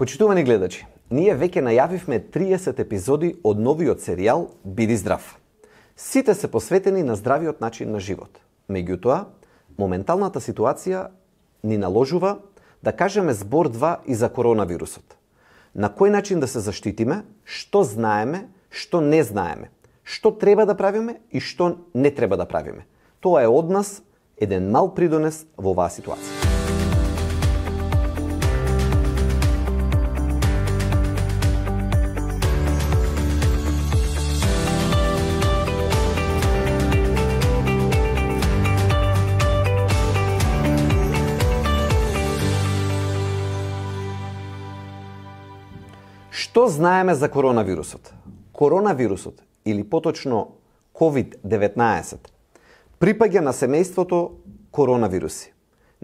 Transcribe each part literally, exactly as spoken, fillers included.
Почитувани гледачи, ние веќе најавивме триесет епизоди од новиот серијал Биди здрав. Сите се посветени на здравиот начин на живот. Меѓутоа, моменталната ситуација ни наложува да кажеме збор два и за коронавирусот. На кој начин да се заштитиме, што знаеме, што не знаеме, што треба да правиме и што не треба да правиме. Тоа е од нас еден мал придонес во оваа ситуација. Што знаеме за коронавирусот? Коронавирусот, или поточно ковид деветнаесет, припаѓа на семејството коронавируси.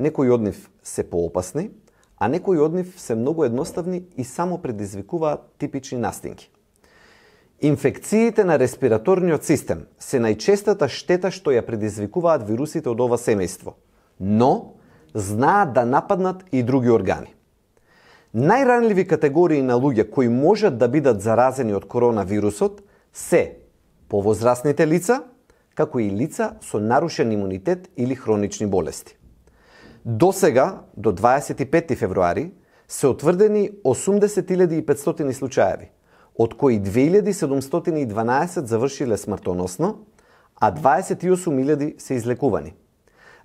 Некои од нив се поопасни, а некои од нив се многу едноставни и само предизвикуваат типични настинки. Инфекциите на респираторниот систем се најчестата штета што ја предизвикуваат вирусите од ова семејство, но знаат да нападнат и други органи. Најранливи категории на луѓе кои можат да бидат заразени од коронавирусот се повозрасните лица, како и лица со нарушен имунитет или хронични болести. До сега, до дваесет и петти февруари, се утврдени осумдесет илјади и петстотини случаеви, од кои две илјади седумстотини и дванаесет завршиле смртоносно, а дваесет и осум илјади се излекувани.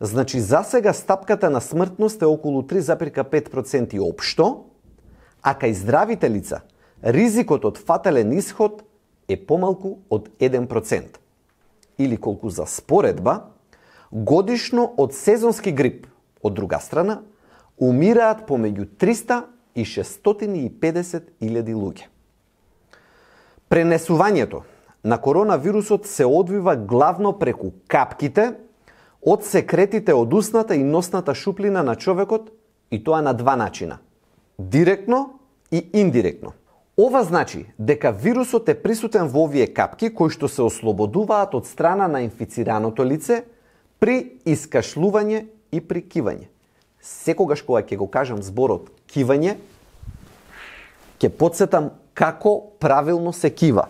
Значи, за сега стапката на смртност е околу три запирка пет проценти општо, а кај здравите лица ризикот од фатален исход е помалку од еден процент. Или колку за споредба, годишно од сезонски грип, од друга страна, умираат помеѓу триста и шестстотини и педесет илјади луѓе. Пренесувањето на коронавирусот се одвива главно преку капките од секретите од устната и носната шуплина на човекот, и тоа на два начина – директно и индиректно. Ова значи дека вирусот е присутен во овие капки кои што се ослободуваат од страна на инфицираното лице при искашлување и при кивање. Секогаш кога ќе го кажам зборот кивање, ќе потсетам како правилно се кива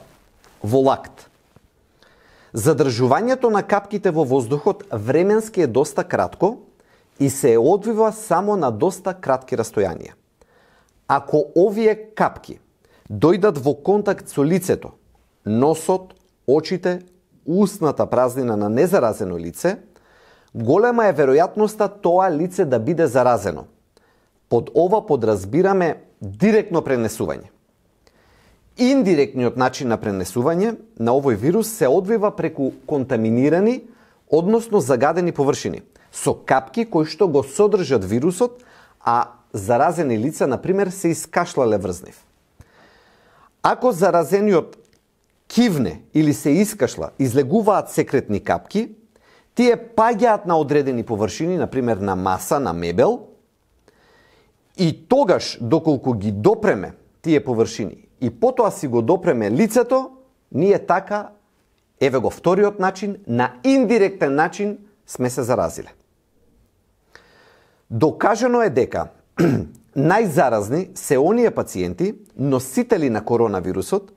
во лакт. Задржувањето на капките во воздухот временски е доста кратко и се одвива само на доста кратки растојанија. Ако овие капки дојдат во контакт со лицето, носот, очите, устната празнина на незаразено лице, голема е веројатноста тоа лице да биде заразено. Под ова подразбираме директно пренесување. Индиректниот начин на пренесување на овој вирус се одвива преку контаминирани, односно загадени површини, со капки кои што го содржат вирусот, а заразени лица, например, се искашлале врз нив. Ако заразениот кивне или се искашла, излегуваат секретни капки, тие паѓаат на одредени површини, например на маса, на мебел, и тогаш, доколку ги допреме тие површини и потоа си го допреме лицето, ние така, еве го вториот начин, на индиректен начин сме се заразиле. Докажано е дека најзаразни се оние пациенти, носители на коронавирусот,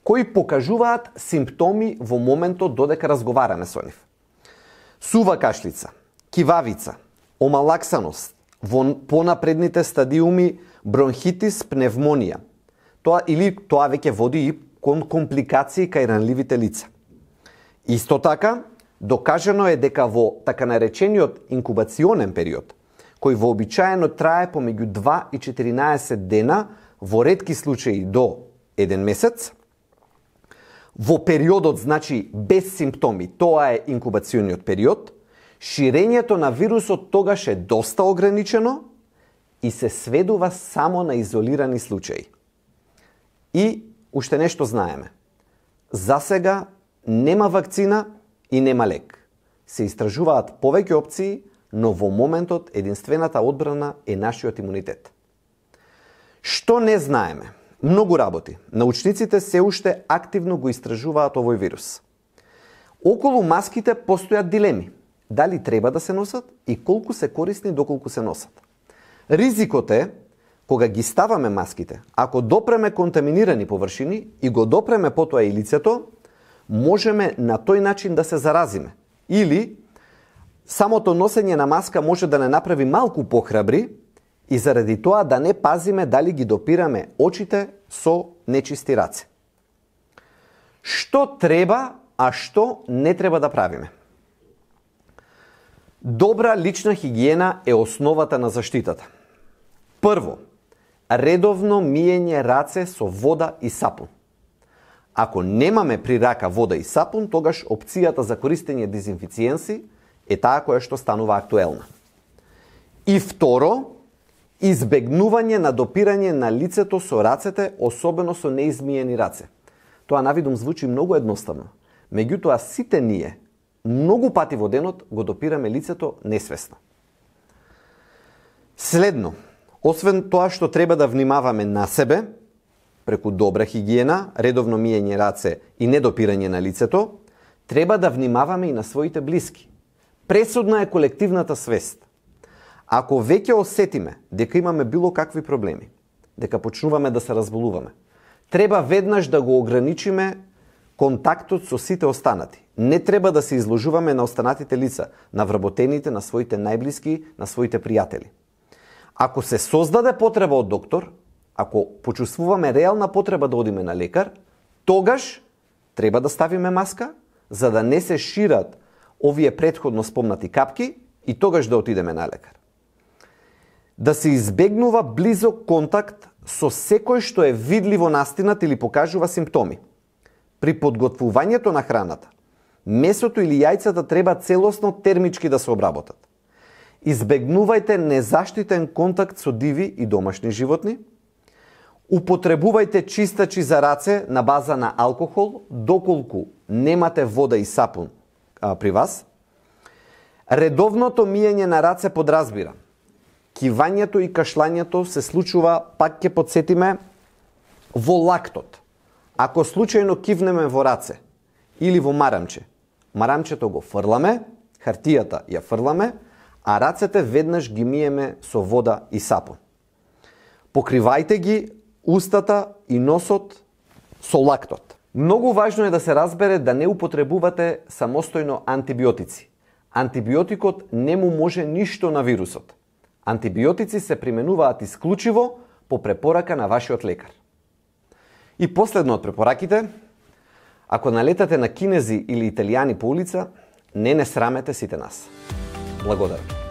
кои покажуваат симптоми во моментот додека разговараме со нив. Сува кашлица, кивавица, омалаксаност, во понапредните стадиуми бронхитис, пневмонија. Тоа или тоа веќе води и кон компликации кај ранливите лица. Исто така, докажано е дека во така наречениот инкубационен период, кој вообичаено трае помеѓу два и четиринаесет дена, во ретки случаи до еден месец. Во периодот, значи, без симптоми, тоа е инкубациониот период, ширењето на вирусот тогаш е доста ограничено и се сведува само на изолирани случаи. И уште нешто знаеме. За сега нема вакцина и нема лек. Се истражуваат повеќе опции, но во моментот единствената одбрана е нашиот имунитет. Што не знаеме? Многу работи. Научниците се уште активно го истражуваат овој вирус. Околу маските постојат дилеми. Дали треба да се носат и колку се корисни доколку се носат. Ризикот е кога ги ставаме маските, ако допреме контаминирани површини и го допреме потоа и лицето, можеме на тој начин да се заразиме. Или самото носење на маска може да не направи малку похрабри и заради тоа да не пазиме дали ги допираме очите со нечисти раце. Што треба, а што не треба да правиме? Добра лична хигиена е основата на заштитата. Прво, редовно миење раце со вода и сапун. Ако немаме при рака вода и сапун, тогаш опцијата за користење дезинфициенси е таа која што станува актуелна. И второ, избегнување на допирање на лицето со рацете, особено со неизмиени раце. Тоа навидум звучи многу едноставно, меѓутоа сите ние многу пати во денот го допираме лицето несвесно. Следно, освен тоа што треба да внимаваме на себе, преку добра хигиена, редовно миење раце и недопирање на лицето, треба да внимаваме и на своите блиски. Пресудна е колективната свест. Ако веќе осетиме дека имаме било какви проблеми, дека почнуваме да се разболуваме, треба веднаш да го ограничиме контактот со сите останати. Не треба да се изложуваме на останатите лица, на вработените, на своите најблиски, на своите пријатели. Ако се создаде потреба од доктор, ако почувствуваме реална потреба да одиме на лекар, тогаш треба да ставиме маска, за да не се шират овие претходно спомнати капки и тогаш да отидеме на лекар. Да се избегнува близок контакт со секој што е видливо настинат или покажува симптоми. При подготвувањето на храната, месото или јајцата треба целосно термички да се обработат. Избегнувајте незаштитен контакт со диви и домашни животни. Употребувајте чистачи за раце на база на алкохол, доколку немате вода и сапун а, при вас. Редовното миење на раце подразбира кивањето и кашлањето се случува, пак ќе подсетиме, во лактот. Ако случајно кивнеме во раце или во марамче, марамчето го фрламе, хартијата ја фрламе, а рацете веднаш ги миеме со вода и сапун. Покривајте ги устата и носот со лактот. Многу важно е да се разбере да не употребувате самостојно антибиотици. Антибиотикот не му може ништо на вирусот. Антибиотици се применуваат исклучиво по препорака на вашиот лекар. И последно од препораките, ако налетате на кинези или италијани по улица, не не срамете сите нас. Благодарам.